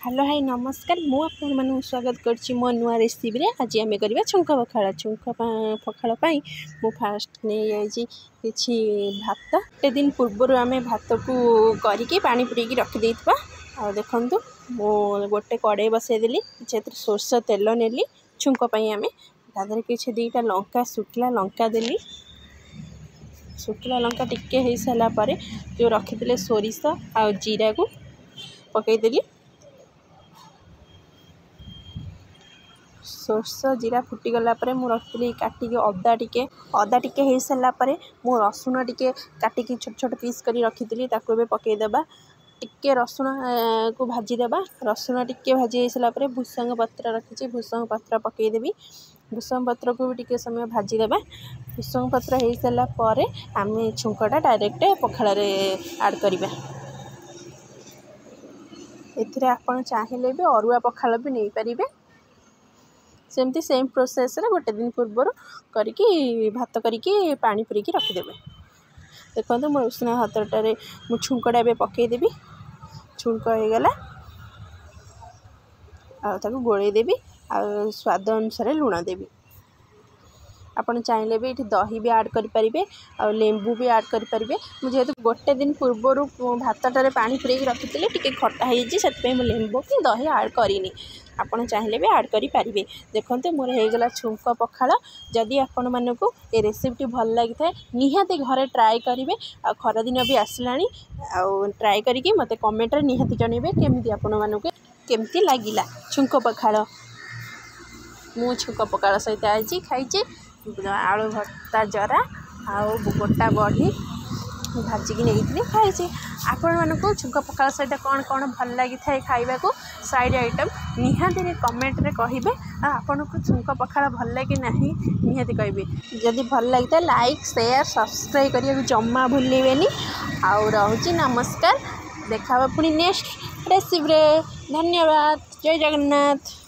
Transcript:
Hello high ନମସ୍କାର, ମୁଁ ଆପଣମାନଙ୍କୁ ସ୍ୱାଗତ କରୁଛି ମୋ ନୂଆ ରେସିପିରେ। ଆଜି ଆମେ କରିବା ଛୁଙ୍କ ପଖାଳ। ଛୁଙ୍କ ପଖାଳ ପାଇଁ ମୁଁ ଫାଷ୍ଟ ନେଇଯାଇଛି କିଛି ଭାତ। ଗୋଟେ ଦିନ ପୂର୍ବରୁ ଆମେ ଭାତକୁ କରିକି ପାଣି ପୁରେଇକି ରଖିଦେଇଥିବା। ଆଉ ଦେଖନ୍ତୁ, ମୁଁ ଗୋଟେ କଡ଼େଇ ବସାଇଦେଲି, କିଛି ଏଥିରେ ସୋରିଷ ତେଲ ନେଲି ଛୁଙ୍କ ପାଇଁ। ଆମେ ତା ଦେହରେ କିଛି 2ଟା ଲଙ୍କା, ଶୁଖିଲା ଲଙ୍କା ଦେଲି। ଶୁଖିଲା ଲଙ୍କା ଟିକେ ହେଇସାରିଲା ପରେ ଯେଉଁ ରଖିଥିଲେ ସୋରିଷ ଆଉ ଜିରାକୁ ପକାଇଦେଲି। ସୋରିଷ ଜିରା ଫୁଟିଗଲା ପରେ ମୁଁ ରଖିଥିଲି କାଟିକି ଅଦା ଟିକେ। ଅଦା ଟିକେ ହେଇସାରିଲା ପରେ ମୁଁ ରସୁଣ ଟିକେ କାଟିକି ଛୋଟ ଛୋଟ ପିସ୍ କରି ରଖିଥିଲି, ତାକୁ ଏବେ ପକାଇଦେବା। ଟିକେ ରସୁଣକୁ ଭାଜିଦେବା। ରସୁଣ ଟିକେ ଭାଜି ହେଇସାରିଲା ପରେ ଭୃସଙ୍ଗ ପତ୍ର ରଖିଛି, ଭୃସଙ୍ଗ ପତ୍ର ପକାଇଦେବି। ଭୃସଙ୍ଗ ପତ୍ରକୁ ବି ଟିକେ ସମୟ ଭାଜିଦେବା। ଭୃସଙ୍ଗ ପତ୍ର ହେଇସାରିଲା ପରେ ଆମେ ଛୁଙ୍କଟା ଡାଇରେକ୍ଟ ପଖାଳରେ ଆଡ଼୍ କରିବା। ଏଥିରେ ଆପଣ ଚାହିଁଲେ ବି ଅରୁଆ ପଖାଳ ବି ନେଇପାରିବେ। ସେମିତି ସେମ୍ ପ୍ରୋସେସ୍ରେ ଗୋଟେ ଦିନ ପୂର୍ବରୁ କରିକି ଭାତ କରିକି ପାଣି ପୁରେଇକି ରଖିଦେବେ। ଦେଖନ୍ତୁ, ମୋ ଉଷୁନା ଭାତଟାରେ ମୁଁ ଛୁଙ୍କଟା ଏବେ ପକାଇଦେବି। ଛୁଙ୍କ ହେଇଗଲା, ଆଉ ତାକୁ ଗୋଳେଇ ଦେବି ଆଉ ସ୍ୱାଦ ଅନୁସାରେ ଲୁଣ ଦେବି। ଆପଣ ଚାହିଁଲେ ବି ଏଠି ଦହି ବି ଆଡ଼୍ କରିପାରିବେ ଆଉ ଲେମ୍ବୁ ବି ଆଡ଼୍ କରିପାରିବେ। ମୁଁ ଯେହେତୁ ଗୋଟେ ଦିନ ପୂର୍ବରୁ ଭାତଟାରେ ପାଣି ପୁରେଇକି ରଖିଥିଲି, ଟିକେ ଖଟା ହେଇଛି, ସେଥିପାଇଁ ମୁଁ ଲେମ୍ବୁ କି ଦହି ଆଡ଼୍ କରିନି। ଆପଣ ଚାହିଁଲେ ବି ଆଡ଼୍ କରିପାରିବେ। ଦେଖନ୍ତୁ, ମୋର ହେଇଗଲା ଛୁଙ୍କ ପଖାଳ। ଯଦି ଆପଣମାନଙ୍କୁ ଏ ରେସିପିଟି ଭଲ ଲାଗିଥାଏ, ନିହାତି ଘରେ ଟ୍ରାଏ କରିବେ। ଆଉ ଖରାଦିନ ବି ଆସିଲାଣି, ଆଉ ଟ୍ରାଏ କରିକି ମୋତେ କମେଣ୍ଟରେ ନିହାତି ଜଣାଇବେ କେମିତି ଆପଣମାନଙ୍କୁ କେମିତି ଲାଗିଲା ଛୁଙ୍କ ପଖାଳ। ମୁଁ ଛୁଙ୍କ ପଖାଳ ସହିତ ଆଜି ଖାଇଛି ଆଳୁ ଭର୍ତ୍ତା, ଜରା ଆଉ ଗୋଟା ବଢ଼ି ଭାଜିକି ନେଇଥିଲି, ଖାଇଛି। ଆପଣମାନଙ୍କୁ ଛୁଙ୍କ ପଖାଳ ସହିତ କ'ଣ କ'ଣ ଭଲ ଲାଗିଥାଏ ଖାଇବାକୁ ସାଇଡ଼୍ ଆଇଟମ୍, ନିହାତି କମେଣ୍ଟରେ କହିବେ। ଆଉ ଆପଣଙ୍କୁ ଛୁଙ୍କ ପଖାଳ ଭଲ ଲାଗେ ନାହିଁ, ନିହାତି କହିବେ। ଯଦି ଭଲ ଲାଗିଥାଏ, ଲାଇକ୍, ସେୟାର, ସବସ୍କ୍ରାଇବ୍ କରିବାକୁ ଜମା ଭୁଲିବେନି। ଆଉ ରହୁଛି, ନମସ୍କାର। ଦେଖା ହେବ ପୁଣି ନେକ୍ସଟ ରେସିପିରେ। ଧନ୍ୟବାଦ, ଜୟ ଜଗନ୍ନାଥ।